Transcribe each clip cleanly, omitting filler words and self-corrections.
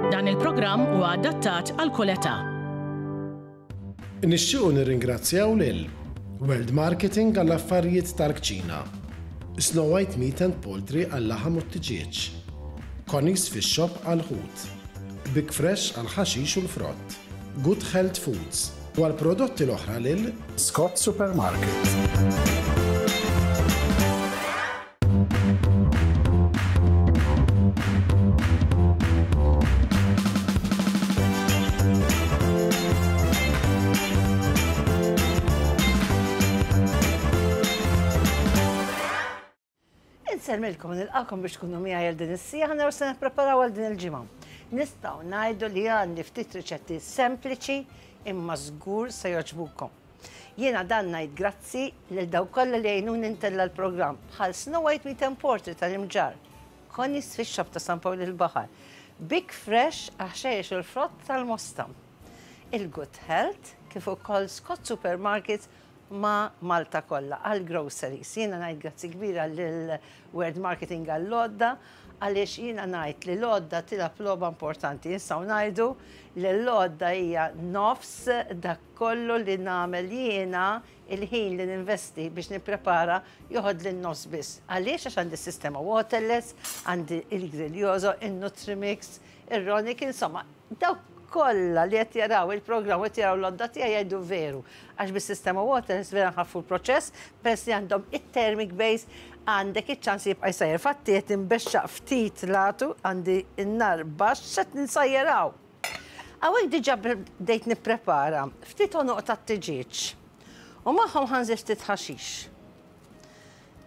Dan il-programm huwa adattat għal kull età. Nixtiequ nirringrazzjaw lil World Marketing għall-affarijiet tal-kċina, Snow White Meat and Poultry għal-laħam u t-tiġieġ, Connie's Fish Shop għall-ħut, Big Fresh għall-ħaxix u l-frott, Good Health Foods u għall-prodotti l-oħra lil Scott Supermarket. Insellmilkom nilqakom biex tkunu miegħi għal din is-sija ħa naraw se nippreparaw għal din il-ġimgħa. Nistgħu ngħidu li għandi ftit riċetti sempliċi imma żgur se jogħġbukom. Jiena dan ngħid grazzi lil dawk kollha li għinuni ntella' l-programm, bħal Snow White Meat and Poultry tal-Imġarr, Connie's Fish Shop ta' San Pawl il-Baħar, Big Fresh għax-ħxejjex u l-frott tal-Mosta, il-Good Health, kif ukoll Scott Supermarkets ma' Malta kollha għall-groceries. Jiena ngħid grazzi kbira lil Word Marketing għall-għodda għaliex jiena ngħid li l-għodda tilgħab logħba importanti. Nistgħu ngħidu li l-għodda hija nofs dak Kollu li nagħmel jiena, il-ħin li ninvesti biex nipprepara joħodli n-nofs biss. Għaliex? Għax għandi s-sistema waterless, għandi il-Grillioso, in-Nutrimix, ir-Ronic, insomma, dawk kollha li qed jaraw il-programm u qed jaraw l-għodda tiegħi jgħidu veru. Għax bis-sistema waterless vera nħaffu l-proċess, peress li għandhom it-thermic base, għandek iċ-ċans li jibqa' jsajjar. Fatti qed inbexxaq ftit l-għatu, għandi n-nar baxx, x'qed nsajjar hawn? Hawnhekk diġà bdejt nipprepara ftit għonoq tat-tiġieġ u magħhom ħa nżid ftit ħaxix.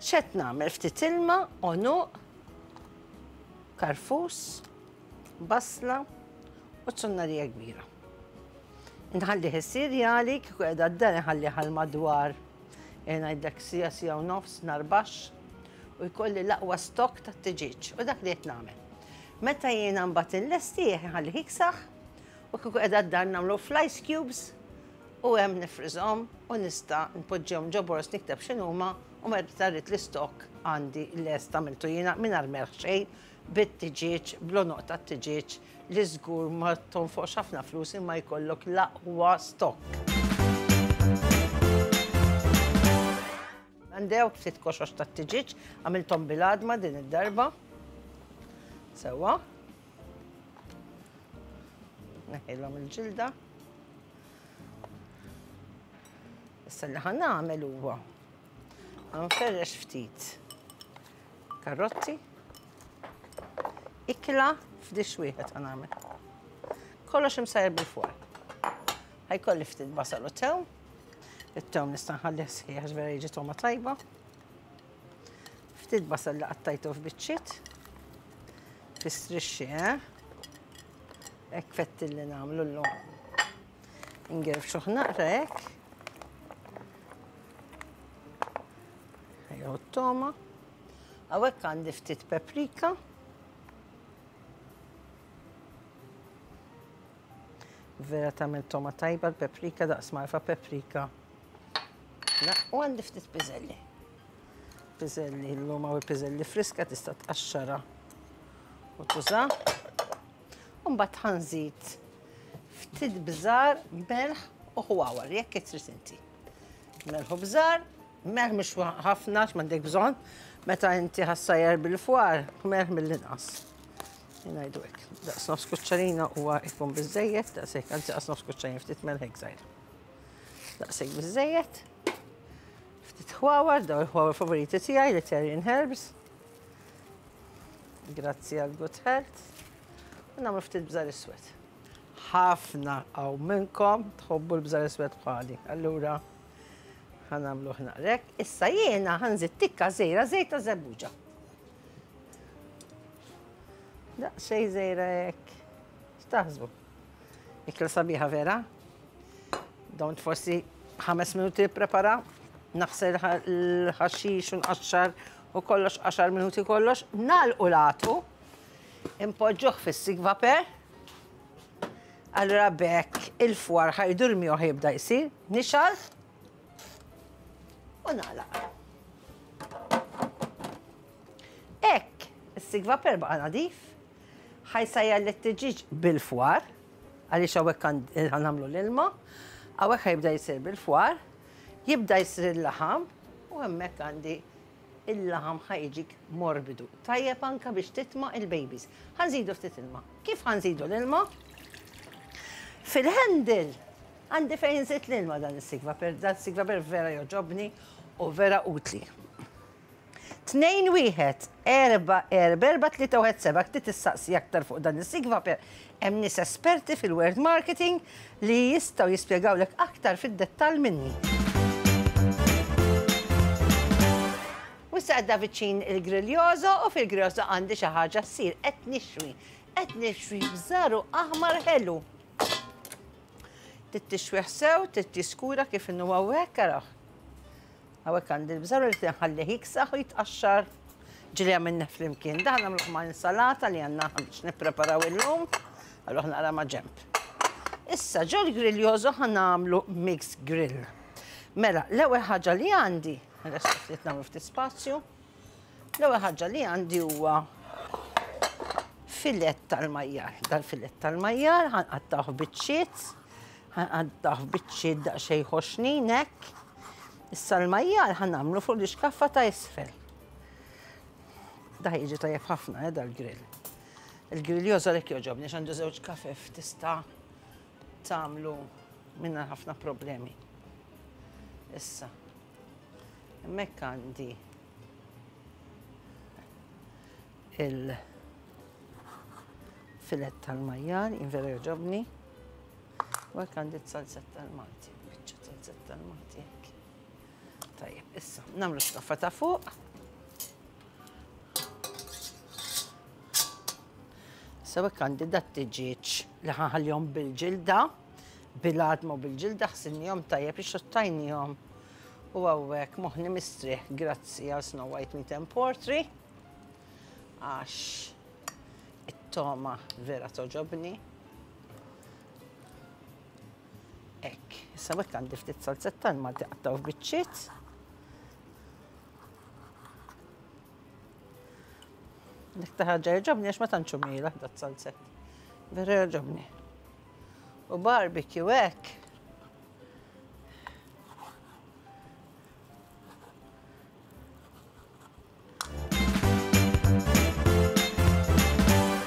X'qed nagħmel? Ftit ilma, għonuq, karfus, basla u zunnarija kbira. Nħallih isir jali, kieku qiegħda d-dar nħallih għal madwar eh, ngħidlek sija sija u nofs nar baxx u jkolli l-aqwa stokk tat-tiġieġ u dak li qed nagħmel. Meta jiena mbagħad inlestih inħallih jiksaħ u kieku qiegħda d-dar nagħmlu fl-ice cubes u hemm nifriżhom u nista' npoġġihom ġo boroż nikteb x'inhuma u meta rrid l-istokk għandi lest għamiltu jiena mingħajr melħ xejn bit-tiġieġ bl-għonoq tat-tiġieġ li żgur ma tonfoqx ħafna flus imma jkollok l-aqwa stokk. Għandi hawn ftit koxox tat-tiġieġ, għamilthom bil-għadma din id-darba. Sewwa. Neħilhom il-ġilda. Issa li ħa nagħmel huwa nferrex ftit karrotti. Ikla f'dix wieħed ħa nagħmel. Kollox imsajjar bil-fwar. Ħajkolli ftit basal u tewm. It-tewm nista' nħallih sħiħ għax vera jiġi togħma tajba. Ftit basal li qattajtu f'biċċiet. Fi strixxi, eh? Hekk fetti li nagħmlu llum. Ingerfxuh naqra hekk. Ejja t-toma. Hawnhekk għandi ftit paprika. Vera tagħmel toma tajba l-paprika daqs marfa paprika. La, u għandi ftit piżelli. Piżelli llum hawn piżelli friska tista' tqaxxara u tuża. U mbagħad ħanżid ftit bżar, melħ u ħwawar jekk trid inti. Melħ u bżar, melħ mhux ħafna x'm'għandek bżonn, meta inti ħassajjar bil-fwar, melħ mill-inqas. Ngħidu hekk. Daqs nofs kuċċarina huwa jkun biżejjed, daqshekk, anzi daqs nofs kuċċarina ftit melħ hekk żgħir. Daqshekk biżejjed. Ftit ħwawar, daw il-ħwawar favoriti tiegħi, l-Italian herbs. Grazzi għal good health. U nagħmlu ftit bżar iswed. Ħafna hawn minnkom tħobbu l-bżar iswed bħali. Allura ħanamlu naqrek. Issa jiena ħanżid tikka żejra żejt ta' żebbuġa. Daqsxejn żgħira hekk. X'taħsbu? Ikla sabiħa vera? Don't forsi ħames minuti prepara, naħsel l-ħaxix u nqaxxar u kollox għaxar minuti kollox, nagħlqu l-għatu, impoġġuh fis-sigvaper, allura b'hekk il-fwar ħajdur miegħu jibda jsir, nixgħal u nagħlaq. Hekk, is-sigvaper baqa' nadif. Ħa jsajjar lit-tiġieġ bil-fwar, għaliex hawnhekk ħa nagħmlu l-ilma, hawnhekk ħa jibda jsir bil-fwar, jibda jsir il-laħam u hemmhekk għandi il-laħam ħa jiġik morbidu. Tajjeb anka biex titma' il-babies. Ħa nżidu ftit ilma. Kif ħa nżidu l-ilma? Fil-handle għandi fejn nżid l-ilma dan is-sigva per dan is-sigva per vera joġobni u vera utli. 2 1 4 4 4 3 1 7 Trid tistaqsi aktar fuq dan is-sigva per hemm nies esperti fil-word marketing li jistgħu jispjegawlek aktar fid-dettall minni. U issa għadda viċin il-griljoso u fil-griljoso għandi xi ħaġa ssir qed nixwi. Qed nixwi bżaru aħmar ħelu. Trid tixwih sew, trid tiskura kif inhu hawnhekk araħ. Hawnhekk għandi l-bżaru li tinħallih jiksaħ u jitqaxxar ġili għamilna flimkien. Dan nagħmluh ma' insalata li għandna biex nippreparaw illum, għalluh naqra ma' ġemp. Issa ġol griljoso ħa nagħmlu mix grill. Mela, l-ewwel ħaġa li għandi, ftit nagħmlu ftit spazju, l-ewwel ħaġa li għandi huwa filet tal-majjar. Dal-filet tal-majjar ħanqattawh biċċiet, ħanqattawh biċċiet daqsxejn ħoxnin hekk. Issa l-majjar ħa nagħmlu fuq l-ixkaffa ta' isfel. Da jiġi tajjeb ħafna eh, dal-grill. Il-grill jożolek joġobni għandu żewġ kafef tista' tagħmlu minna ħafna problemi. Issa, hemmhekk għandi il-filet tal-majjar, invera joġobni. U hekk għandi t-salzett tal-Malti, biċċa salzett tal-Malti hekk. Tajjeb, issa, nagħmlu xkaffa ta' fuq. Issa hekk għandi dat-tiġieġ li ħanħallihom bil-ġilda, bil-għadma u bil-ġilda ħsilnihom tajjeb ixxottajnihom u hawnhekk moħħni mistrieħ grazzi għal Snow White Meat and Poultry għax it-toma vera toġobni. Hekk, issa hekk għandi ftit salzetta l-Malti qattaw f'biċċiet. L-iktar ħaġa jogħġobni għax ma tantx hu mielaħ dat salzett. Vera jogħġobni. U barbecue hekk.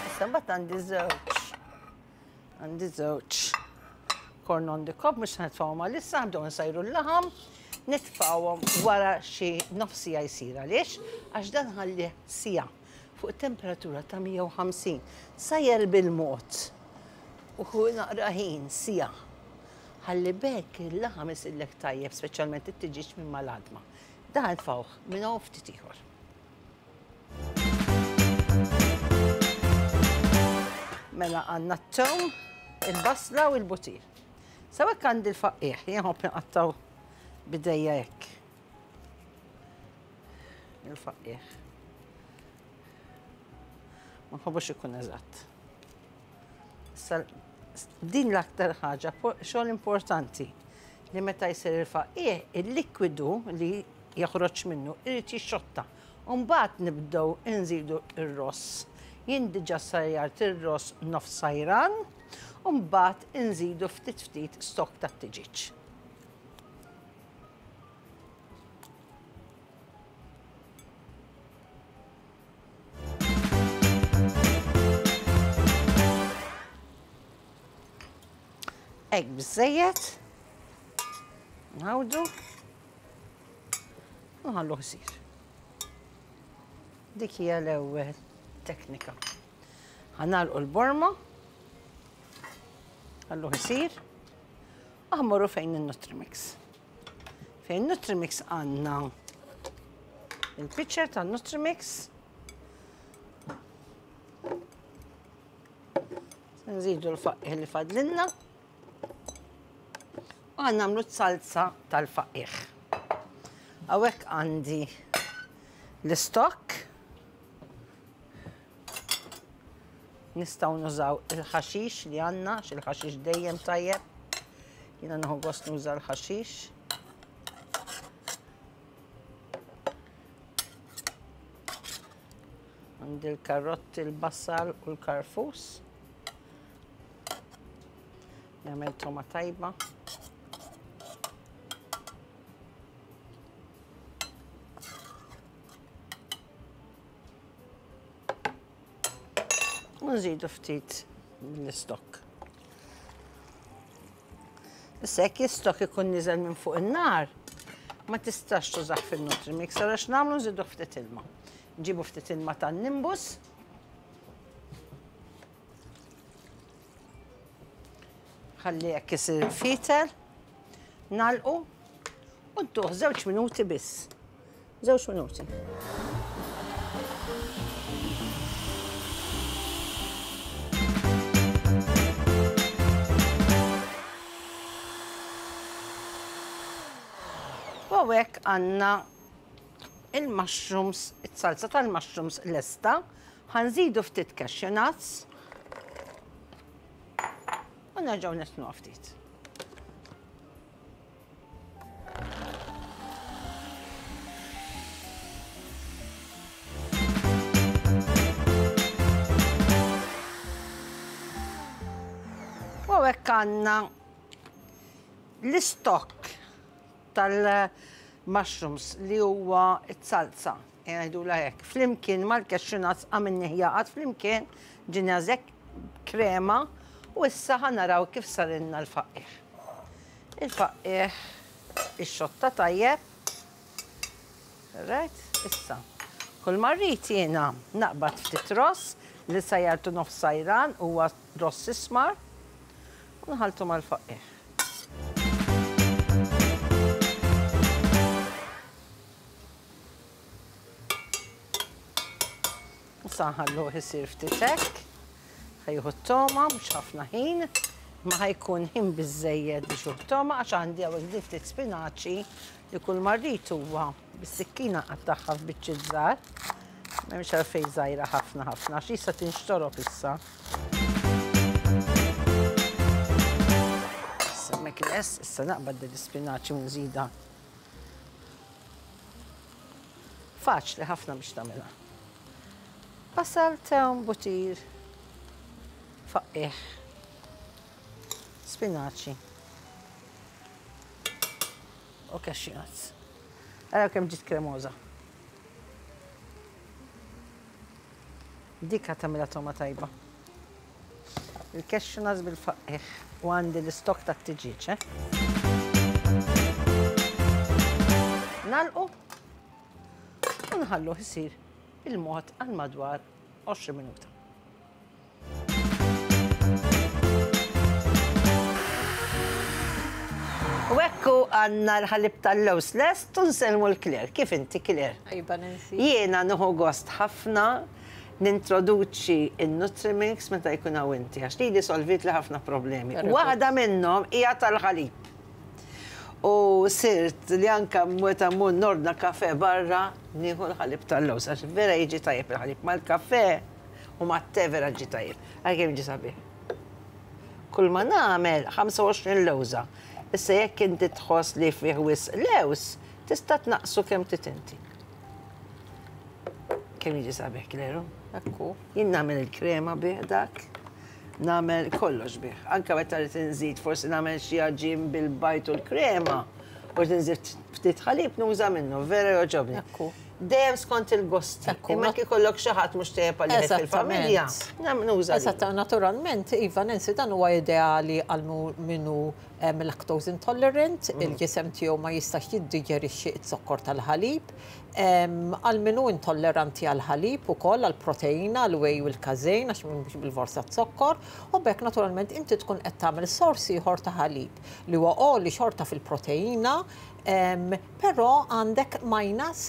Issa mbagħad għandi żewġ. Għandi żewġ corn on the cob, mhux nitfgħuhom għalissa, nibdew nsajru l-laħam, nitfgħuhom wara xi nofs siegħa jsir. Għaliex? Għax dan ħallih siegħa fuq temperatura ta' 150. Sajjer bil-mod u ħu naqra ħin siegħa. Ħalli b'hekk il-laħam isirlek tajjeb, speċjalment it-tiġieġ minn mal-għadma. Dan nitfgħuh minn hawn ftit ieħor. Mela għandna t-tewm, il-basla u l-butir. Sawhekk għandi l-faqqiegħ, jien nħobb inqattgħu b'idejja hekk. Il-faqqiegħ. Ma nħobbux ikun eżatt. Issa din l-aktar ħaġa xogħol importanti li meta jsir il-faqqiegħ il-likwidu li joħroġ minnu irid jixxotta. U mbagħad nibdew inżidu r-ross. Jien diġà sajjart ir-ross nofs sajran u mbagħad inżidu ftit ftit stokk tat-tiġieġ. Hekk biżżejjed. Nħawdu. Nħalluh isir. Dik hija l-ewwel teknika. Ħanalqu l-borma. Ħalluh isir. Aħmorru fejn il-Nutrimix. Fejn Nutrimix għandna il-pitcher ta' Nutrimix. Nżidu l-faqih li fadlinna. U għan nagħmlu salsa tal-faqih. Hawnhekk għandi l-istokk. Nistgħu nużaw il-ħaxix li għandna, għax il-ħaxix dejjem tajjeb. Jiena nieħu gost nuża l-ħaxix. Għandi l-karotti, l-basal u l-karfus. Nagħmel toma tajba. U nżidu ftit mill-istokk. Issa jekk l-istokk ikun niżel minn fuq in-nar, ma tistax tużah fin-Nutrimix, allura x'nagħmlu nżidu ftit ilma. Nġibu ftit ilma tan-nimbus. Ħalli hekk isir fitel. Nagħlqu u ntuh żewġ minuti biss. Żewġ minuti. U hawnhekk għandna il-mushrooms, it-salsa tal-mushrooms lesta. Ħa nżidu ftit cashew nuts. U nerġgħu nitnuha ftit. U hekk għandna l-istokk tal-mushrooms li huwa t-salsa, ngħidulha hekk, flimkien mal-cashew nuts għamilnieh jaqgħad flimkien ġiena hekk krema u issa ħa naraw kif sarilna l-faqqiegħ. Il-faqqiegħ ixxotta tajjeb. Right, issa. Kull ma rrid jiena naqbad ftit ross li sajjartu nofs sajran huwa ross ismar u nħalltu mal-faqqiegħ. Issa nħalluh isir ftit hekk. Ħa jieħu t-togħma, mhux ħafna ħin, imma ħa jkun ħin biżżejjed biex jieħu t-togħma għax għandi hawnhekk din ftit spinaċi li kull ma rrid huwa bis-sikkina nqattagħha f'biċċiet żgħar. M'hemmx għalfejn żgħira ħafna ħafna għax issa tinxtorob issa. Issa hemmhekk lest, issa naqbad din l-ispinaċi u nżidha. Faċli ħafna biex tagħmilha. Basal, tewm, butir, faqqiegħ, spinaċi u cashew nuts. Araw kemm ġiet kremoża. Dik ħa tagħmilha togħma tajba. Il-cashew nuts bil-faqqiegħ u għandi l-istokk tat-tiġieġ, eh? Nagħlqu u nħalluh isir il-mod għal madwar 20 minuta. U ekku għandna l-ħalib tal-lewż lest u nsellmu l-Claire. Kif inti Claire? Iva Nancy. Jiena nieħu gost ħafna nintroduċi n-Nutrimix meta jkun hawn inti għax lili solvitli ħafna problemi. Waħda minnhom hija tal-ħalib. U sirt li anke meta mmur nordna kafè barra nieħu l-ħalib tal-lewż għax vera jiġi tajjeb il-ħalib mal-kafè u mat-te vera ġie tajjeb. Ara kemm ġie sabiħ. Kull ma nagħmel 25 lewża. Issa jekk inti tħoss li fih wisq lewż, tista' tnaqqsu kemm trid inti. Kemm jiġi sabiħ Kleru? Ekku. Jien nagħmel il-krema bih dak. Nagħmel kollox bih. Anke meta rrid inżid forsi nagħmel xi għaġin bil-bajd u l-krema u rrid inżid ftit ħalib nuża minnu, vera jogħġobni. Ekku. Dejjem skont il-gosti. Ekku. Imma jekk ikollok xi ħadd mhux tajjeb għalih fil-familja, nuża. Eżatt, naturalment, iva Nancy, dan huwa ideali għal min hu lactose intolerant, il-ġisem tiegħu ma jistax jiddiġerixxi z-zokkor tal-ħalib. Għal min hu intolleranti għall-ħalib ukoll, għall-proteina, għall-whey u l-casein, għax mhux bilfors għaz-zokkor, u b'hekk naturalment inti tkun qed tagħmel sors ieħor ta' ħalib li huwa għoli xorta fil-proteina, però għandek minus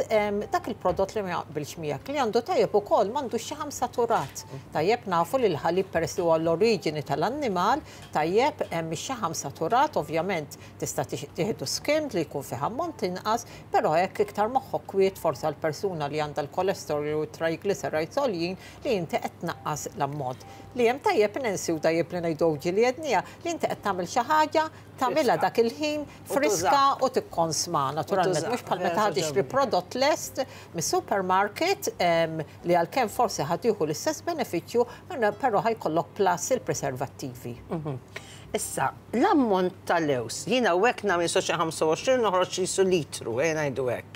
dak il-prodott li ma jaqbilx miegħek li għandu tajjeb ukoll m'għandux xaħam saturat. Tajjeb nafu li l-ħalib peress li huwa l-oriġini tal-annimal, tajjeb hemm ix-xaħam saturat, ovvjament tista' tieħdu skimmed li jkun fih ammont inqas, però hekk iktar moħħok kwiet. xarbiet forsi għal persuna li għandha l-cholesterol u t-triglycerides għoljin li inti qed tnaqqas l-ammont. Li hemm tajjeb Nancy u tajjeb li ngħidu ġieli għedniha li inti qed tagħmel xi ħaġa tagħmilha dak il-ħin friska u tikkonsma naturalment mhux bħal meta ħa tixtri prodott lest mis-supermarket li għalkemm forsi ħa tieħu l-istess benefiċċju però ħa jkollok plus il-preservattivi. Issa, l-ammont ta' lewż, jien hawnhekk nagħmel xi 25 noħroġ qisu litru, ejja ngħidu hekk.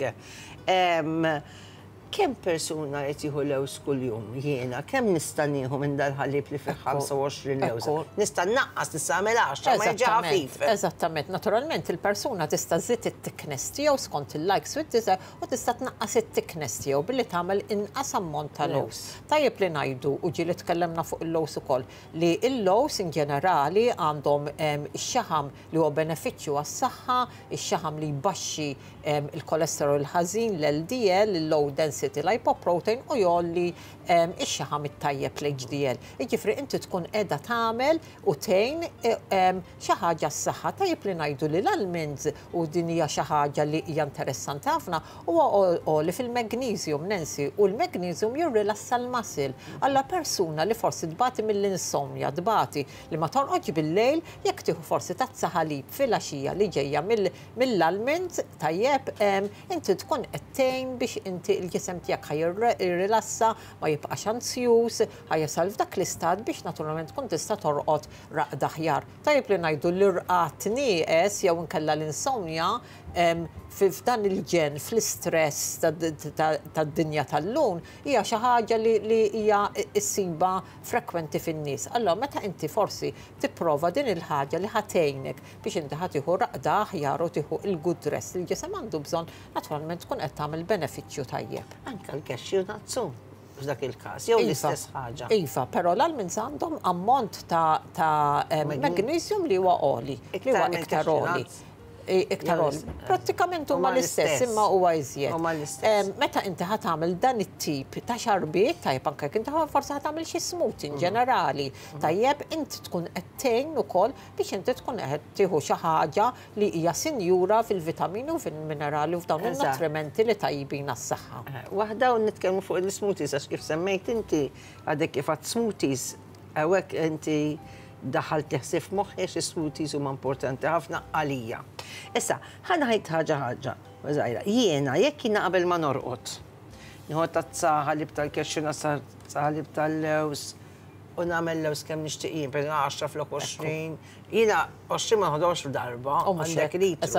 Kemm persuna qed jieħu lewż kuljum? Jiena kemm nista' nieħu minn dal-ħalib li fih 25 lewża? Nista' nnaqqas, nista' nagħmel 10, ma jiġi ħafif. Eżattament. Naturalment il-persuna tista' żżid it-thickness tiegħu skont il-likes u d-dislikes u tista' tnaqqas it-thickness tiegħu billi tagħmel inqas ammont ta' lewż. Tajjeb li ngħidu, u ġieli tkellemna fuq il-lewż ukoll, li l-lewż in ġenerali għandhom ix-xaħam li huwa benefiċċju għas-saħħa, ix-xaħam li jbaxxi il-kolesterol il-ħażin, l-LDL, il-low density lipoprotein u jgħolli ix-xaħam it-tajjeb l-HDL. Jiġifieri inti tkun qiegħda tagħmel u tgħin xi ħaġa s-saħħa. Tajjeb li ngħidu li l-almonds u din hija xi ħaġa li hija interessanti ħafna huwa għoli fil-magnesium, Nancy, u l-magnesium jirrilassa l-muscle. Alla persuna li forsi tbati mill-insomnia, tbati li ma torqodx bil-lejl, jekk tieħu forsi tazza ħalib filgħaxija li ġejja mill-almond, tajjeb, inti tkun qed tgħin biex inti l-ġisem tiegħek ħa jirrilassa, ma jibqax anzjuż, ħa jasal f'dak l-istat biex naturalment tkun tista' torqod raqda aħjar. Tajjeb li ngħidu l-irqad nieqes jew inkella l-insomnia f'dan il-ġenn, fl-istress tad-dinja tal-lum, hija xi ħaġa li hija ssibha frekwenti fin-nies. Allura meta inti forsi tipprova din il-ħaġa li ħa tgħinek biex inti ħa tieħu raqda aħjar u tieħu il-good rest li l-ġisem għandu bżonn, naturalment tkun qed tagħmel benefiċċju tajjeb. Anke l-cashew nuts hu f'dak il-każ, jew l-istess ħaġa. Iva, però l-almonds għandhom ammont ta' magnesium li huwa għoli, li huwa iktar għoli. Iktar għoli. Prattikament huma l-istess, imma huwa iżjed. Huma l-istess. Meta inti ħa tagħmel dan it-tip ta' xarbiet, tajjeb anke jekk inti forsi ħa tagħmel xi smoothie in ġenerali, tajjeb inti tkun qed tgħin ukoll biex inti tkun qed tieħu xi ħaġa li hija sinjura fil-vitamini u fil-minerali u f'dawn il-nutrimenti li tajbin għas-saħħa. Waħda u nitkellmu fuq il-smoothies għax kif semmejt inti għadek kif għad smoothies hawnhekk inti daħalt ħsieb f'moħħi għax is-smoothies huma importanti ħafna għalija. Issa, ħa ngħid ħaġa ħaġa, żgħira. Jiena jekk jiena qabel ma norqod, nieħu tazza ħalib tal-cashew, tazza ħalib tal-lewż, u nagħmel lewż kemm nixtieq jien, per 10 flok 20, jiena 20 ma noħodhomx f'darba, għandek litru.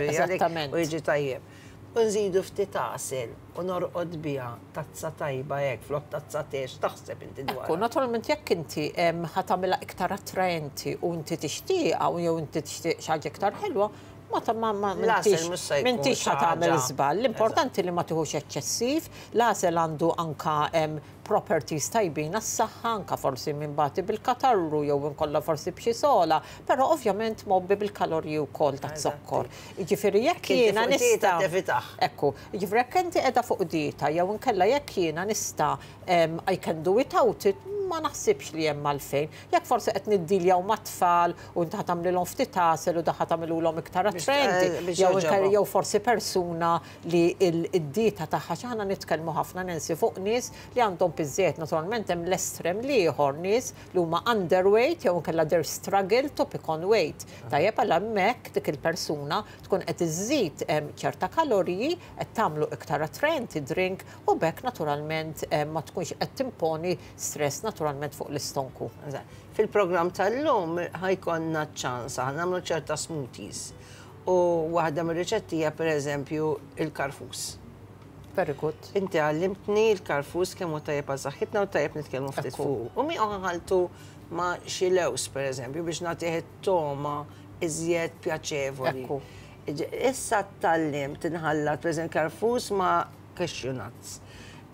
Eżattament. U jiġi tajjeb. U nżidu ftit għasel u norqod biha tazza tajba hekk flok tazza te, x'taħseb inti dwar? Ekku, naturalment jekk inti ħa tagħmilha iktar attraenti u inti tixtieqha u jew inti tixtieq xi ħaġa iktar ħelwa, ma ta' ma ma m'intix ħa tagħmel żball. L-importanti li ma tieħux eċċessiv, l-għasel għandu anka properties tajbin għas-saħħa, anka forsi min bati bil-katarru jew inkolla forsi b'xi sola, però ovvjament mgħobbi bil-kaloriji wkoll taz-zokkor. Jiġifieri jekk jiena nista'. Ekku, jiġifieri jekk inti qiegħda fuq dieta jew inkella jekk jiena nista' I can do without it, ma naħsibx li hemm għalfejn. Jekk forsi qed niddiljaw mat-tfal u inti ħa tagħmlilhom ftit għasel u dak ħa tagħmilulhom iktar attraenti, jew inkella jew forsi persuna li d-dieta tagħha xi aħna nitkellmu ħafna Nancy fuq nies li għandhom piż-żejjed, naturalment hemm l-estrem l-ieħor, nies li huma underweight jew inkella they're struggle to pick on weight. Tajjeb għal hemmhekk dik il-persuna tkun qed iżżid ċerta kaloriji, qed tagħmlu iktar attraenti drink u b'hekk naturalment ma tkunx qed timponi stress naturalment fuq l-istonku. Fil-programm tal-lum ħa jkollna ċ-ċans aħna nagħmlu ċerta smoothies. U waħda mir-riċetti hija pereżempju il-karfus. Very good. Inti għallimtni l-karfus kemm hu tajjeb għal saħħitna u tajjeb nitkellmu ftit fuq. U miegħu ħaltu ma' xi lewż pereżempju biex nagħtih it-togħma iżjed pjaċevoli. Issa tgħallimt inħallat pereżempju karfus ma' cashew nuts.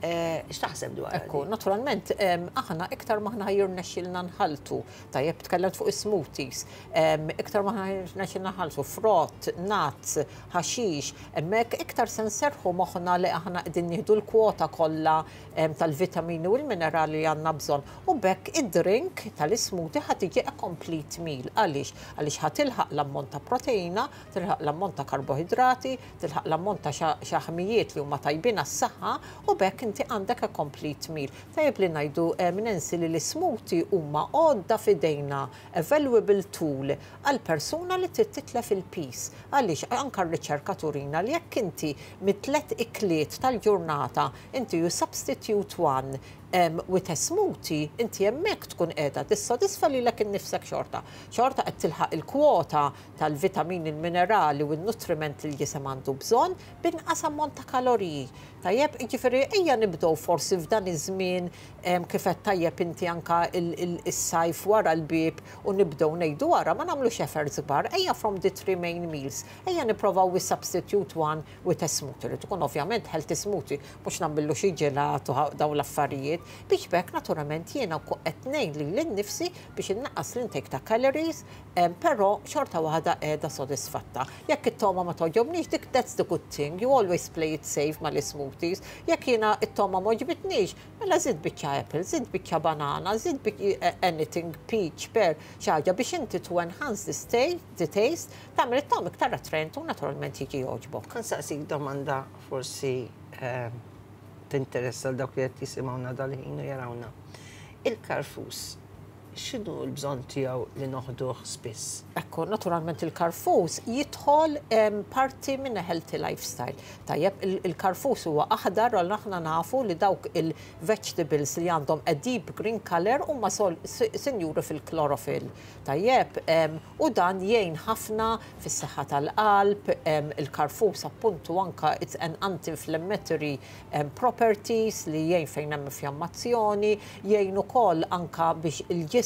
X'taħseb dwar? Ekku, naturalment, aħna iktar maħna jirnexxilna nħaltu, tajjeb tkellimt fuq is-smoothies, iktar maħna jirnexxilna nħaltu frott, nuts, ħaxix, hemmhekk iktar se nserħu moħħna li aħna qegħdin nieħdu l-kwota kollha tal-vitamini u l-minerali li għandna bżonn. U b'hekk id-drink tal-ismoothie ħa tiġi a complete meal. Għaliex? Għaliex ħa tilħaq l-ammont ta' proteina, tilħaq l-ammont ta' karboidrati, tilħaq l-ammont ta' xaħmijiet li huma tajbin għas-saħħa u b'hekk inti għandek a complete meal. Tajjeb li ngħidu, Nancy, li l-ismoothie huma għodda f'idejna, a valuable tool għal persuna li trid titlef il-piż. Għaliex anka r-riċerka turina li jekk inti mit-tlet ikliet tal-ġurnata inti you substitute one with a smoothie, inti hemmhekk tkun qiegħda tissodisfa lilek innifsek xorta. Xorta qed tilħaq il-kwota tal-vitamini, il-minerali u n-nutriment li l-ġisem għandu bżonn b'inqas ammont ta' kaloriji. Tajjeb, jiġifieri ejja nibdew forsi f'dan iż-żmien kif qed tajjeb inti anka is-sajf wara l-bieb u nibdew ngħidu wara ma nagħmlux efforts kbar, ejja from the three main meals, ejja nipprovaw we substitute one with a smoothie, li tkun ovvjament healthy smoothie, mhux nagħmillu xi ġelat u dawn l-affarijiet, biex b'hekk naturalment jiena qed ngħin lili nnifsi biex innaqqas l-intake ta' calories, però xorta waħda qiegħda sodisfatta. Jekk it-togħma ma togħġobnix, dik that's the good thing, you always play it safe mal-smoothies. Jekk jiena it-togħma ma għoġbitnix, mela żid biċċa apple, żid biċċa banana, żid anything, peach, pear, xi ħaġa biex inti to enhance the taste, tagħmel it-togħma iktar attraent u naturalment jiġi jogħġbok. Ħa nsaqsik domanda forsi tinteressa dawk li qed jisimgħuna dal-ħin u jarawna. Il-karfus, x'inhu l-bżonn tiegħu li noħduh spiss? Ekku, naturalment il-karfus jidħol parti minn a healthy lifestyle. Tajjeb, il-karfus huwa aħdar u aħna nafu li dawk il-vegetables li għandhom a deep green color huma sinjuri fil-chlorophyll. Tajjeb, u dan jgħin ħafna fis-saħħa tal-qalb, il-karfus appuntu anka it's an anti-inflammatory properties li jgħin fejn hemm infjammazzjoni, jgħin ukoll anka biex il-ġisem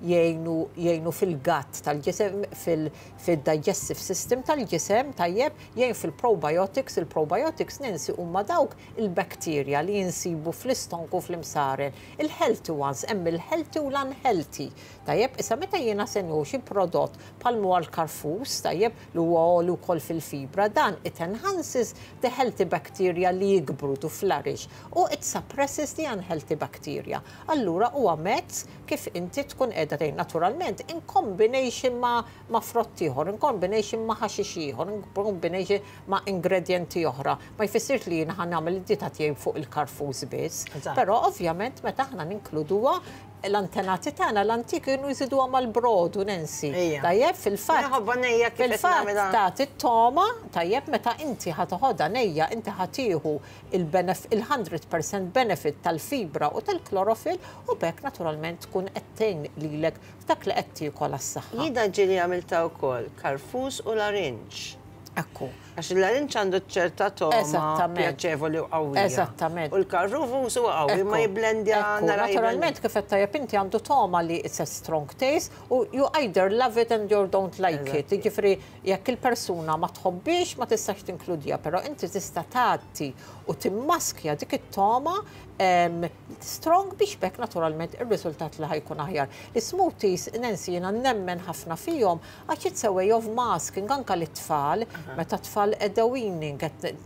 jgħinu fil-gut tal-ġisem, fil-digestive system tal-ġisem, tajjeb, jgħin fil-probiotics. Il-probiotics, Nancy, huma dawk il-bakterja li jinsibu fl-istonku, fl-imsaren. Il-healthy ones, hemm il-healthy u l-unhealthy. Tajjeb, issa meta jiena se nieħu xi prodott bħalma l-karfus, tajjeb, li huwa għoli wkoll fil-fibra, dan it enhances the healthy bacteria li jikbru to flourish u it suppresses the unhealthy bacteria. Allura huwa mezz kif inti tkun qiegħda tgħin naturalment in combination ma' frott ieħor, in combination ma' ħaxix ieħor, in combination ma' ingredienti oħra. Ma jfissirx li jiena ħa nagħmel id-dieta tiegħi fuq il-karfus biss. Però ovvjament meta aħna ninkluduha, l-antenati tagħna l-antik kienu jżiduha mal-brodu, Nancy. Tajjeb, fil-fatt. Nħobbha nejja kif qed Fil-fatt nagħmilha. tagħti t-togħma, tajjeb, meta inti ħa toħodha nejja, inti ħa tieħu il-100% benefit tal-fibra u tal-chlorophyll u b'hekk naturalment tkun qed tgħin lilek f'dak li qed tiekol għas-saħħa. Jiena ġieli għamilta wkoll karfus u larinġ. Għax il-larinġ għandu ċerta togħma pjaċevoli u qawwija. U l-karfus huwa qawwi ma jiblendja nara. Naturalment kif qed tajjeb inti għandu togħma li it's a strong taste u you either love it and you don't like it. Jiġifieri jekk il-persuna ma tħobbix ma tistax tinkludija, però inti tista' tagħti u timmaskja dik it-togħma strong biex b'hekk naturalment ir-riżultat li ħa jkun aħjar. L-smoothies, Nancy, jiena nemmen ħafna fihom għax it's a way of masking anka l-tfal, meta tfal qegħda weaning, qed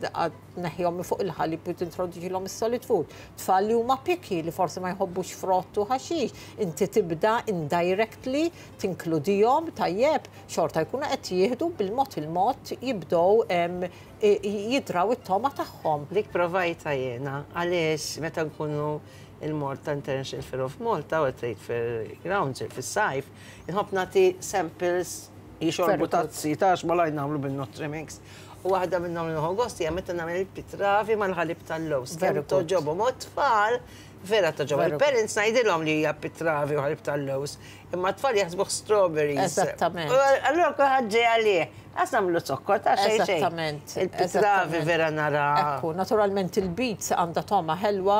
tneħħihom minn fuq il-ħalib u tintroduċilhom is-solid food. Tfal li huma picky li forsi ma jħobbux frott u ħaxix, inti tibda indirectly tinkludihom, tajjeb, xorta jkunu qed jieħdu bil-mod il-mod jibdew jidraw it-togħma tagħhom. Dik provajta jiena, għaliex meta nkunu il-Malta International Fair of Malta u Trade Fair Grounds fis-sajf, inħobb nagħti samples jixorbu tazzi ta' malajr nagħmlu bil-Nutrimix. U waħda minnhom li nieħu gost hija meta nagħmel il-pitravi mal-ħalib tal-lewż. Very Kemm good. togħġobhom u tfal vera togħġobhom. Il-parents ngħidilhom li hija pitravi u ħalib tal-lewż, imma t-tfal jaħsbuh strawberries. U allura kulħadd ġej għalih. Għas nagħmlu zokkor ta' xejn xejn. Il-pitravi vera nara. Ekku, naturalment il-beets għandha togħma ħelwa.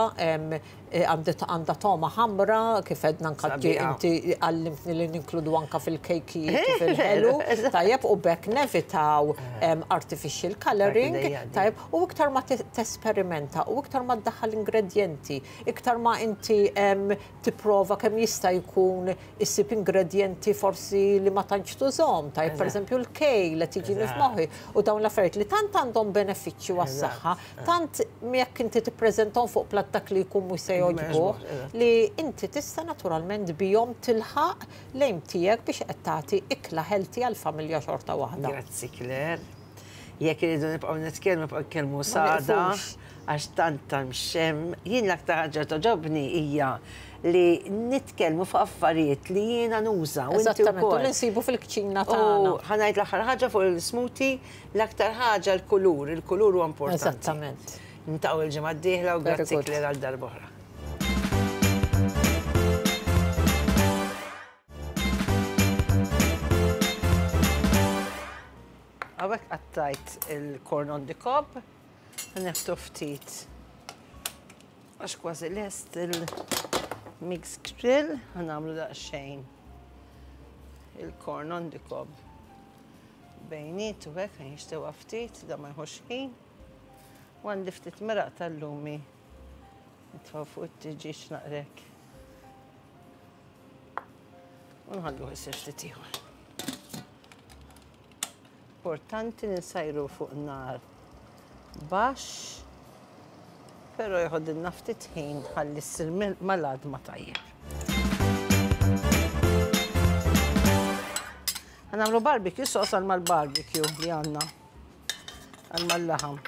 Għandha togħma ħamra, kif għedna anka inti għallimtni li ninkludu anka fil-kejkijiet u fil-ħelu. Tajjeb, u b'hekk nevitaw artificial coloring. Tajjeb, u iktar ma tesperimenta u iktar ma ddaħħal ingredjenti, iktar ma inti tipprova kemm jista' jkun issib ingredjenti forsi li ma tantx tużhom, tajjeb, pereżempju l-kale qed jiġini f'moħħi u dawn l-affarijiet li tant għandhom benefiċċju għas-saħħa, tant jekk inti tippreżentahom fuq platt dak li jkun mhux se jogħġbuh, li inti tista' naturalment bihom tilħaq l-aim tiegħek biex qed tagħti ikla healthy għall-familja xorta waħda. Grazzi Claire. Jekk irridu nibqgħu nitkellmu nibqgħu nitkellmu s'għada għax tant hemm x'hemm. Jien l-aktar ħaġa li togħġobni hija li nitkellmu fuq affarijiet li jiena nuża u inti Eżattament, u wkoll. li nsibu fil-kċina U tagħna. ħa ngħid l-aħħar ħaġa fuq il-smoothie, l-aktar ħaġa l-kulur, il-kulur huwa importanti. Eżattament. Niltaqgħu l-ġimgħa d-dieħla u Very grazzi good. Claire għal darb'oħra. Hawnhekk qattajt il-corn on the cob, neħtu ftit għax kważi lest il-mix grill, ħanagħmlu daqsxejn il-corn on the cob bejnietu hekk ħa jinxtewa ftit, da ma jħux ħin. U għandi ftit meraq tal-lumi nitfgħu fuq it-tiġieġ naqrek. U nħalluh isir ftit ieħor. Importanti li nsajru fuq nar baxx, però jħodilna ftit ħin ħalli ssir mal-għadma tajjeb. Ħanagħmlu barbecue sauce għal mal-barbecue li għandna għal mal-laħam.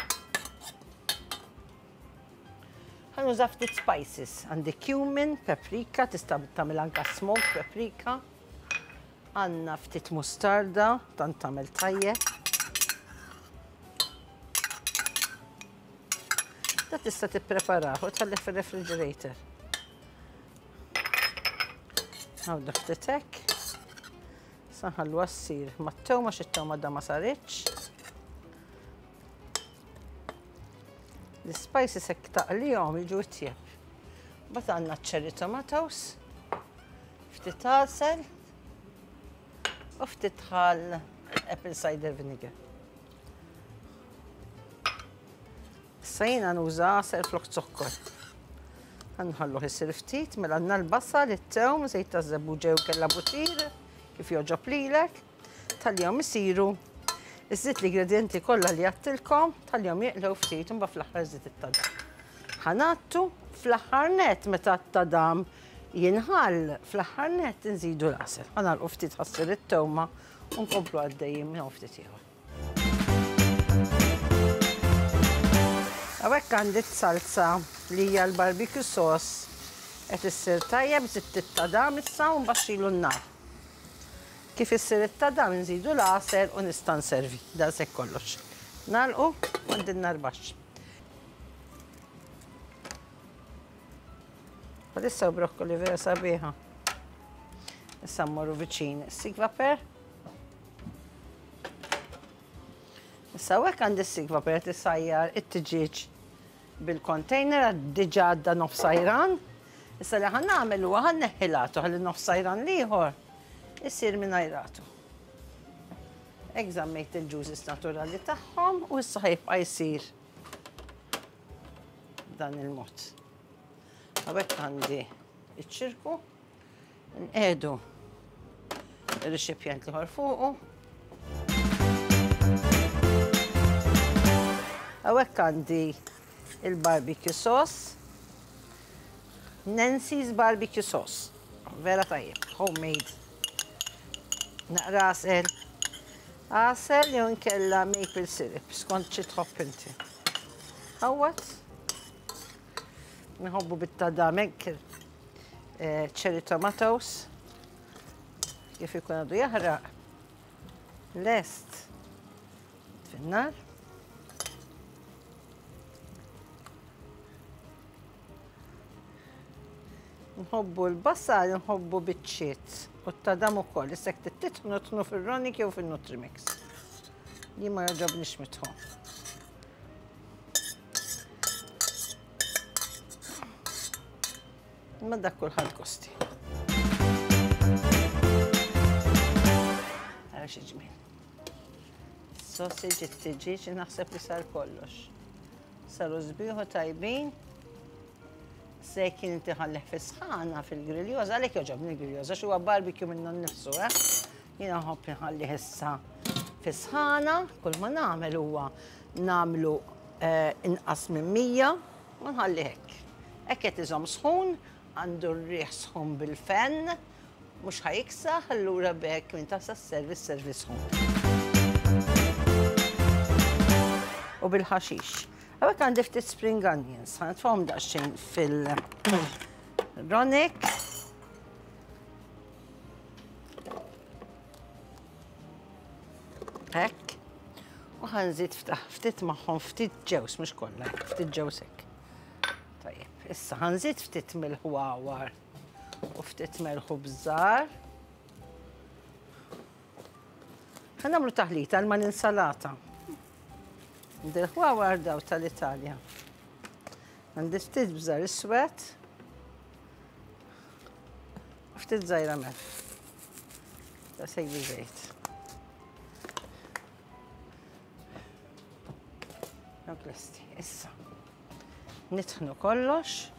Ħanuża ftit spices. Għandi cumin, paprika, tista' tagħmel anka smoked paprika. Għandna ftit mustarda, tant tagħmel tajjeb. Da tista' tippreparah u tħallih fir-refrigerator. Għawda ftit hekk. Sa nħalluha ssir mat-tewma xi t-tewma da ma saritx. L-spices hekk taqlihom jiġu itjeb. Mbagħad għandna cherry tomatoes, ftit għasel u ftit ħall apple cider vinegar. Issa jiena nuża għasel flok zokkor. Nħalluh isir ftit, mela għandna l-basal, it-tewm, żejt ta' żebbuġa jew kella butir, kif jogħġob lilek. Tħallihom isiru. Iżid l-ingredienti kollha li għattilkom, tħallihom jeqlew ftit u mbagħad fl-aħħar żid it-tadam. Ħanattu fl-aħħar net meta t-tadam jinħall, fl-aħħar net inżidu l-għasel. Ħanagħlqu ftit ħassir it-tewma u nkomplu għaddejjin minn hawn ftit ieħor. Hawnhekk għandi salsa li hija l-barbecue sauce qed issir tajjeb, żidt it-tadam issa u nbaxxilu n-nar. Kif issir it-tadam nżidu l-għasel u nista' nservi. Daqshekk kollox. Nagħlqu u għandi n-nar baxx. Bħalissa brokkoli vera sabiħa. Issa mmorru viċin is-sigvaper. Issa hawnhekk għandi s-sigvaper qed isajjar it-tiġieġ bil-container diġà għadda nofs sajran. Issa li ħa nagħmel huwa ħa nneħħi l-għatu ħalli nofs sajran l-ieħor isir mingħajr għatu. Hekk żammejt il-juices naturali tagħhom u issa ħajbqa' jsir dan il-mod. Hawnhekk għandi iċ-ċirku, nqiegħdu ir-rexipjent l-ieħor fuqu. Hawnhekk għandi il-barbecue sauce. Nancy's barbecue sauce. Vera tajjeb, homemade. Naqra għasel. Għasel jew inkella maple syrup, skont xi tħobb inti. Ħawwat. Nħobbu bit-tadam hekk cherry tomatoes. Kif ikun għadu jaħraq. Lest. Fin-nar. Nħobbu l-basal, nħobbu biċċiet u t-tadam ukoll. Issa jekk titħnu tħnu fir-Ronik jew fin-Nutrimix. Jien ma jogħġobnix mitħun. Imma dak kulħadd gosti. Ara xi ġmiel. Sausage, it-tiġieġ, naħseb li sar kollox. Saru sbieħu tajbin. Se kien inti ħallih fi sħana fil-griljoza, għalhekk jogħġobni l-griljoza, xi huwa barbecue minnu nnifsu, eh? Jiena nħobb nħallih issa fi sħana, kull ma nagħmel huwa nagħmlu eh, inqas minn 100 u nħallih hekk. Hekk qed iżomm sħun, għandu r-riħ sħun bil-fen, mhux ħa jiksaħ, allura b'hekk minn tasa sservi sservi sħun. U bil-ħaxix. Hawnhekk għandi ftit spring onions, ħa nitfgħhom daqsxejn fil-ronik. Hekk. U ħa nżid ftit magħhom ftit ġews, mhux kollha, ftit ġews hekk. Tajjeb, issa ħa nżid ftit mill-ħwawar u ftit melħu bżar. Ħa nagħmlu taħlita għal mal-insalata. Dil-ħwawar daw tal-Italja. Għandi ftit bżar iswed. Ftit żgħira melħ. Da sejbi żejt. Dawk lesti. Issa. Nitħnu kollox.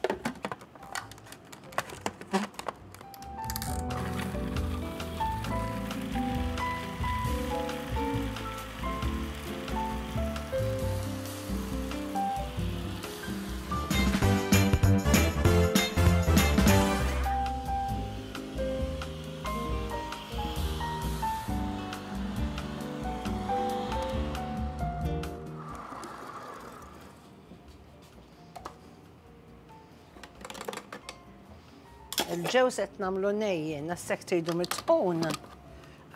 Il-ġews qed nagħmlu nejjin, nassek tridu mitħun.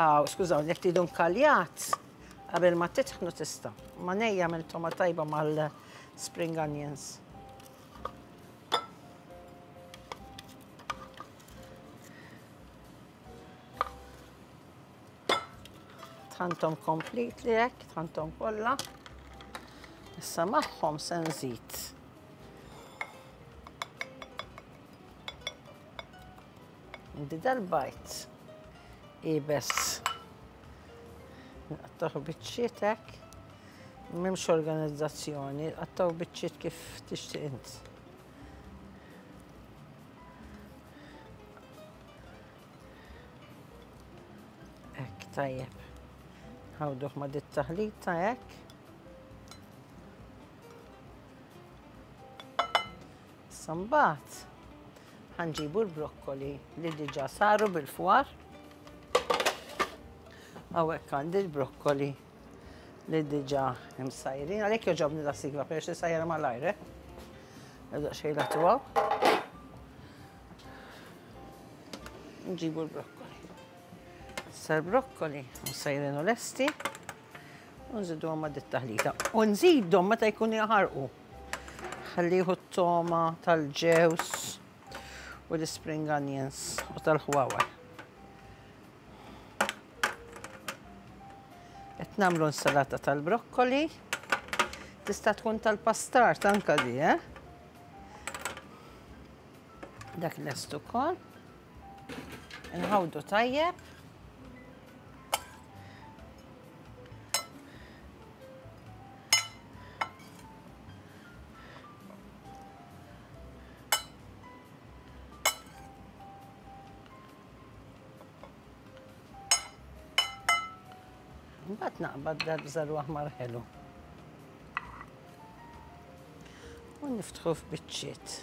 Aw, skużawni, jekk tridu nkaljat, qabel ma titħnu tista'. Ma nejja mill toma tajba mal-spring onions. Tħantom completely hekk, tħantom kollha. Issa magħhom se nżid. Għandi dal-bajt ibes. Nqattaħu biċċiet hekk. M'hemmx organizzazzjoni, qattaw biċċiet kif tixtieq int. Hekk tajjeb. Ħawduh ma' dit taħlita hekk. Issa mbagħad ħanġibu l-brokkoli li diġà saru bil-fwar. Hawnhekk għandi l-brokkoli li diġà imsajrin. Għalhekk jogħġobni da sigla peress li sajra malajr, eh? Daqsxejn latuha. Nġibu l-brokkoli. Issa l-brokkoli msajrin u lesti. U nżiduhom ma' dit-taħlita. U nżidhom meta jkunu jaħarqu. Ħalli jieħu t-toma tal-ġews u l-spring onions u tal-ħwawar. Qed nagħmlu insalata tal-brokkoli. Tista' tkun tal-pastart anka di, eh? Dak lest ukoll. Nħawdu tajjeb. Mbagħad naqbad dal-bżar aħmar ħelu. U niftħu f'biċċiet.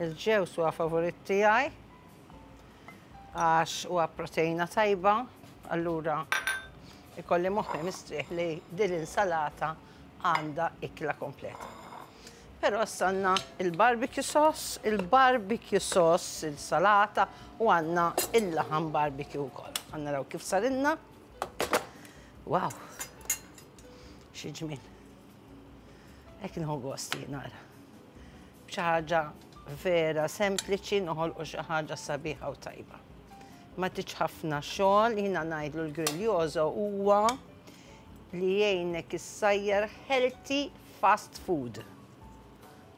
Il-ġews huwa favorit tiegħi għax huwa proteina tajba, allura ikolli moħħi mistrieħ li din l-insalata għandha ikla kompleta. Però issa għandna il-barbecue sauce, il-barbecue sauce, il-salata u għandna il-laħam barbecue wkoll. Ħa naraw kif sarilna. Wow! Xi ġmiel. Hekk nieħu gost jien nara. B'xi ħaġa vera sempliċi noħolqu xi ħaġa sabiħa u tajba. Ma tridx ħafna xogħol, jiena ngħidlu l-Grillioso huwa li jgħinek issajjar healthy fast food.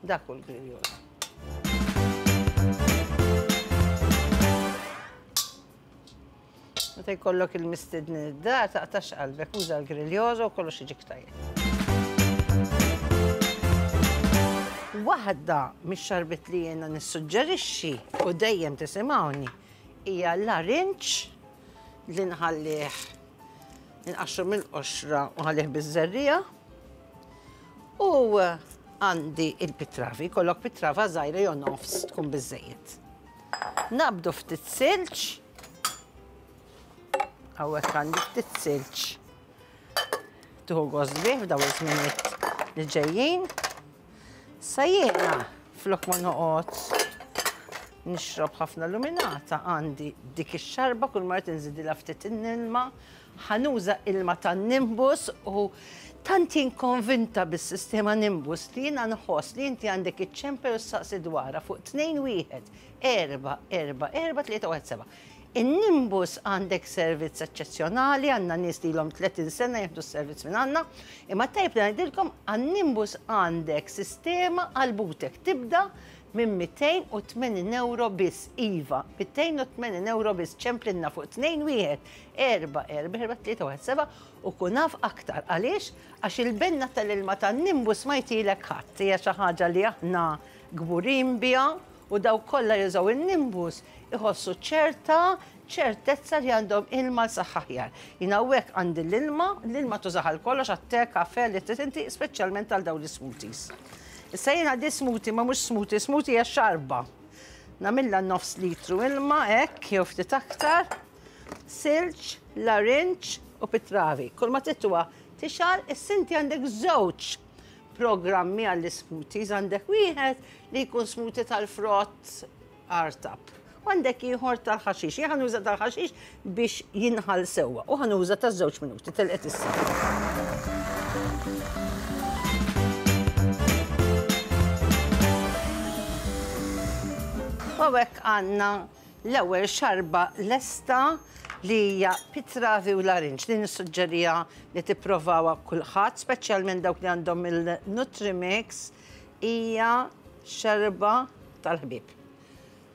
Dak hu l-Grillioso. Meta jkollok il-mistednin id-dar, taqtax qalbek, uża l-Grillioso u kollox jiġik tajjeb. Waħda mix-xarbiet li jiena nissuġġerixxi u dejjem tisimgħuni hija l-larinġ li nħallih inqaxxru mill-qoxra u nħallih biż-żerriegħa. U għandi il-pitravi, jkollok pitrava żgħira jew nofs tkun biżżejjed. Naqbdu ftit silġ. Hawnhekk għandi ftit silġ. Tuħu gost bih f'daw iż-żminijiet li ġejjin. Sa jiena flok ma noqgħod nixrob ħafna luminata għandi dik ix-xarba kull mara tinżidilha ftit ilma, ħanuża ilma tan-Nimbus u tant jien konvinta bis-sistema Nimbus li jiena nħoss li inti għandek iċċempel u ssaqsi dwarha fuq 2 1 4 4 4 3 1 7. In-Nimbus għandek servizz eċċezzjonali, għandna nies li ilhom 30 sena jieħdu s-servizz minn għandna, imma tajjeb li ngħidilkom għan-Nimbus għandek sistema għal butek tibda minn 280 ewro biss, iva, 280 ewro biss, ċemplinna fuq 2 1 4 4 4 3 1 7 u kun af aktar. Għaliex? Għax il-benna tal-ilma tan-Nimbus ma jtilek ħadd, hija xi ħaġa li aħna kburin biha u dawk kollha li jużaw in-Nimbus iħossu ċerta ċertezza li għandhom ilma għal saħħa aħjar. Jien hawnhekk għandi l-ilma, l-ilma tużah għal kollox, għat-te, kafe, li trid inti, speċjalment għal dawn l-ismoothies. Issa jien għandi smoothie, ma mhux smoothie, smoothie hija xarba. Nagħmilha nofs litru ilma hekk jew ftit aktar, silġ, larinġ u pitravi. Kull ma trid huwa tixgħal, issa inti għandek żewġ programmi għall-ismoothies, għandek wieħed li jkun smoothie tal-frott artab. U għandek ieħor tal-ħaxix. Jien ħanuża tal-ħaxix biex jinħall sewwa u ħanuża ta' żewġ minuti telqet issa. U hekk għandna l-ewwel xarba lesta li hija pitravi u larinġ li nissuġġerija li tipprovawha kulħadd, speċjalment dawk li għandhom il-Nutrimix, hija xarba tal-ħbieb.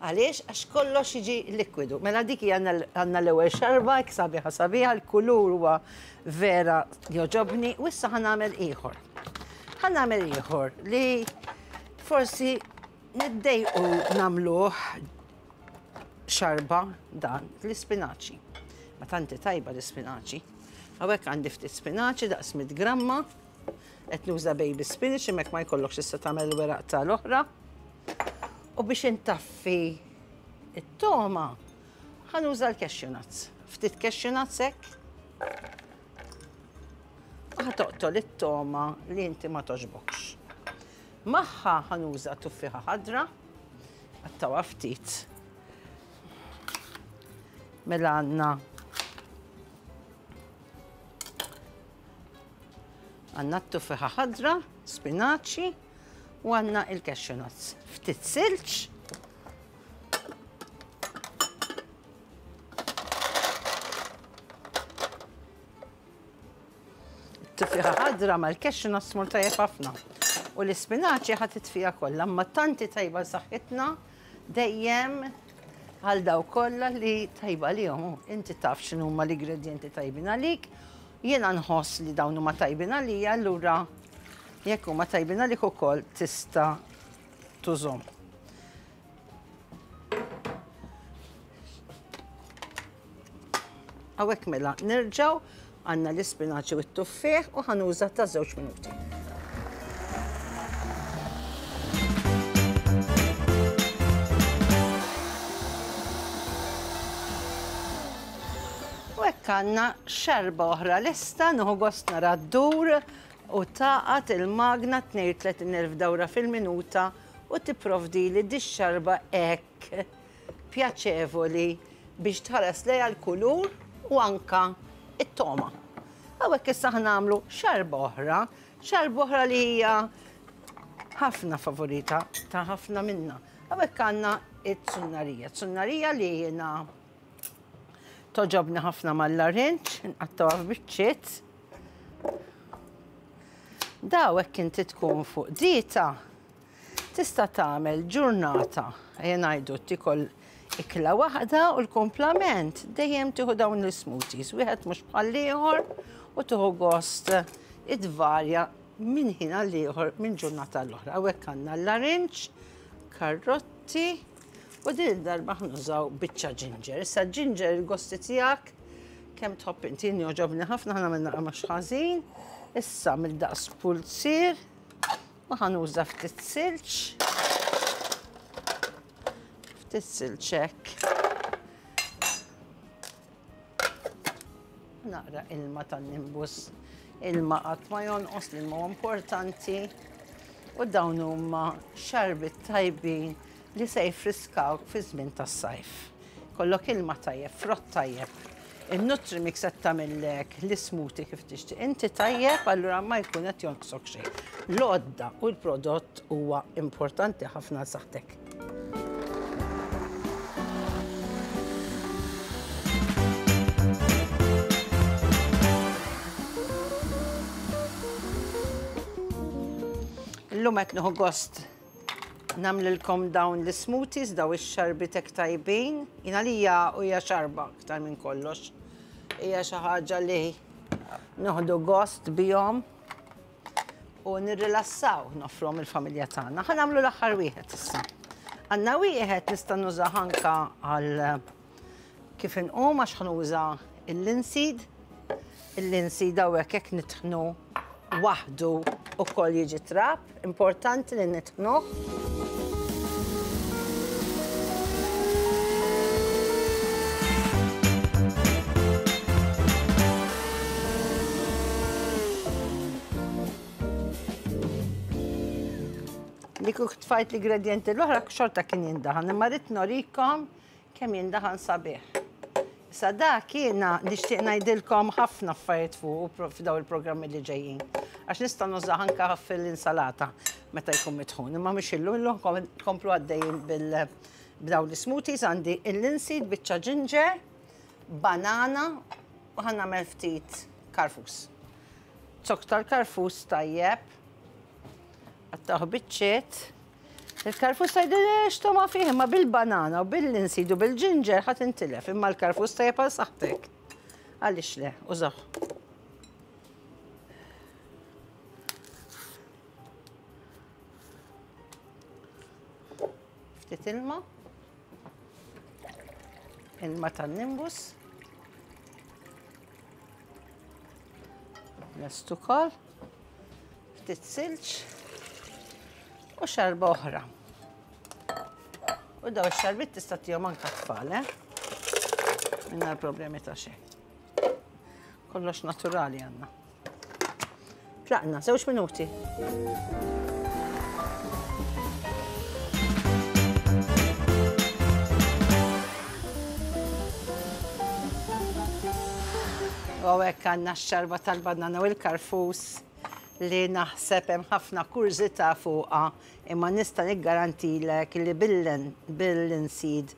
Għaliex? Għax kollox jiġi likwidu. Mela dik hija għandna l-ewwel xarba, hekk sabiħa sabiħa, l-kulur huwa vera jogħġobni, u issa ħa nagħmel ieħor. Ħa nagħmel ieħor li forsi niddejqu nagħmluh xarba dan l-ispinaċi. Ma tanti tajba l-ispinaċi. Hawnhekk għandi ftit spinaċi daqs 100 gramma. Qed nuża baby spinach imma jekk ma jkollokx tista' tagħmel il-weraq tal-oħra. U biex intaffi it-toma ħa nuża l-cashew nuts. Ftit cashew nuts hekk. U ħa toqtol it-toma li inti ma toġbokx. Magħha ħa nuża tuffieħa ħadra. Qattawha ftit. Mela għandna għandna t-tuffieħa ħadra, spinaċi u għandna il-cashew nuts. Ftit silġ. Tuffiħa ħadra mal-cashew nuts tmur tajjeb ħafna. U l-ispinaċi ħa titfija kollha, imma tanti tajba saħħitna dejjem għal daw kollha li tajba għalihom. Inti taf x'inhuma l-ingredjenti tajbin għalik. Jiena nħoss li dawn huma tajbin għalija, allura jekk huma tajbin għalik ukoll tista' tużhom. Hawnhekk mela nerġgħu għandna l-ispinaċi u t-tuffieħ u ħanuża ta' żewġ minuti. U hekk għandna xarba oħra lesta, nieħu gost nara ddur u taqgħad il-magna 32,000 dawra fil-minuta u tipprovdili dix-xarba hekk pjaċevoli biex tħares lejha l-kulur u anka it-togħma. Hawnhekk issa ħa nagħmlu xarba oħra, xarba oħra li hija ħafna favorita ta' ħafna minna. Hawnhekk għandna it-tsunnarija, tsunnarija li jiena Togħġobni ħafna mal-larinġ, nqattgħuha f'biċċiet. Daw hekk inti tkun fuq dieta, tista' tagħmel ġurnata, ejja ngħidu tikol ikla waħda u l-kumplament dejjem tieħu dawn l-smoothies, wieħed mhux bħall-ieħor u tieħu gost idvarja minn ħin għal ieħor minn ġurnata l-oħra. Hawnhekk għandna l-larinġ, karrotti u din id-darba ħnużaw biċċa ġinġer. Issa ġinġer il-gosti tiegħek kemm tħobb inti jogħġobni ħafna ħana minn naqra mhux ħażin. Issa mill-daqs pulzier u ħanuża ftit silġ. Ftit silġ hekk. Naqra ilma tan-nimbus. Ilma qatt ma jonqos, l-ilma huwa importanti. U dawn huma xarbiet tajbin li se jfriskawk fi żmien tas-sajf. Kollok ilma tajjeb, frott tajjeb. Il-Nutrimix qed tagħmillek l-ismuti kif tixtieq. Inti tajjeb, allura ma jkun qed jonqsok xejn. L-għodda u l-prodott huwa importanti ħafna għal saħħtek. Illum qed nieħu gost nagħmlilkom dawn l-smoothies, daw ix-xarbiet hekk tajbin. Jien għalija hija xarba aktar minn kollox. Hija xi ħaġa li noħdu gost bihom u nirrilassaw nofrom il-familja tagħna. Ħa nagħmlu l-aħħar wieħed issa. Għandna wieħed nista' nuża anka għal kif inqum għax ħanuża il-linseed. Il-linseed hawnhekk hekk nitħnu waħdu ukoll jiġi trab, importanti li nitħnuh. Li kuk tfajt l-ingredienti l-oħra xorta kien jindaħan, imma rrid norikom kemm jindaħan sabiħ. Issa dak jiena nixtieq ngħidilkom ħafna affarijiet fuq f'daw il-programmi li ġejjin. Għax nista' nużah anke fil-insalata meta jkun mitħun. Imma mhux illum illum komplu għaddejjin bil b'daw l-smoothies għandi il-linseed, biċċa ginger, banana u ħa nagħmel ftit karfus. Zokk tal-karfus tajjeb. Qattgħuh biċċiet. Il-karfus tgħidli x'togħma fih, imma bil-banana u bil-linseed u bil-ġinġer ħa tintilef, imma l-karfus tajjeb għal saħħtek. Għaliex le, użah. Ftit ilma. Ilma tan-nimbus. Lest ukoll. Ftit silġ u xarba oħra. U daw ix-xarbit tista' tihom anke tfal, eh? Mingħajr problemi ta' xejn. Kollox naturali għandna. Tlaqna, żewġ minuti. U hekk għandna x-xarba tal-banana u l-karfus li naħseb hemm ħafna kurżità fuqha imma nista' niggarantilek li bil-linseed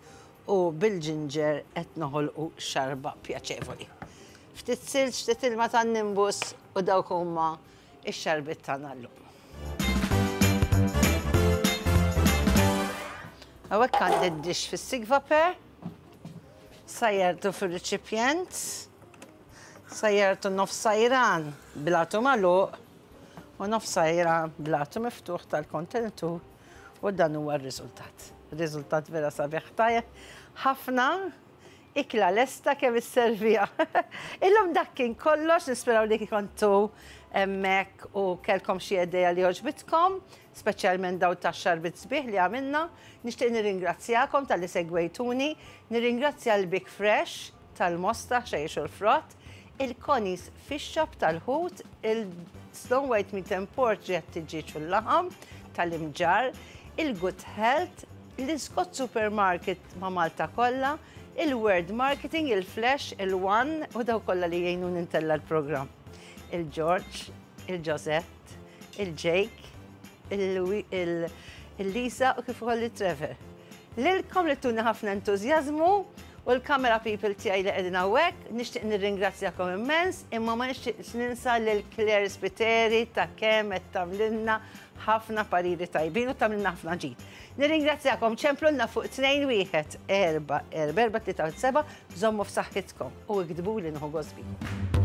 u bil-ġinġer qed noħolqu xarba pjaċevoli. Ftit silġ, ftit ilma tan-nimbus u dawk huma x-xarbiet tagħna llum. Hawnhekk għandi d-dixx fis-sigvaper, sajjartu fir-riċipjent. Sajjartu nofs sajran bl-għatu magħluq u nofs sajran bl-għatu miftuħ tal-kontenitur u dan huwa r-riżultat. Riżultat vera sabiħ tajjeb ħafna ikla lesta kemm isserviha. Illum dak kien kollox, nisperaw li kontu hemmhekk u kellkom xi idea li għoġbitkom, speċjalment daw tax-xarbit sbieħ li għamilna. Nixtieq nirringrazzjakom talli segwejtuni, nirringrazzja l-Big Fresh tal-Mosta, ħxejjex u l-frott, il-Connie's Fish Shop tal-ħut, il-Snow White Meat and Pork ġiet tiġieġ u l-laħam tal-Imġarr, il-Good Health, l-Scott Supermarket ma' Malta kollha, il-World Marketing, il-Flash, il-One u daw kollha li jgħinuni ntella' l-programm. Il-George, il-Josette, il-Jake, il-Lisa u kif ukoll il-Trevor. Lilkom li tuni ħafna entużjażmu. U l-camera people tiegħi li qegħdin hawnhekk, nixtieq nirringrazzjakom immens, imma ma nixtieqx ninsa lil Claire Spiteri ta' kemm qed tagħmlilna ħafna pariri tajbin u tagħmlilna ħafna ġid. Nirringrazzjakom ċemplulna fuq 2 1 4 4 4 3 7 żommu f'saħħitkom u iktbuli nieħu gost bikom.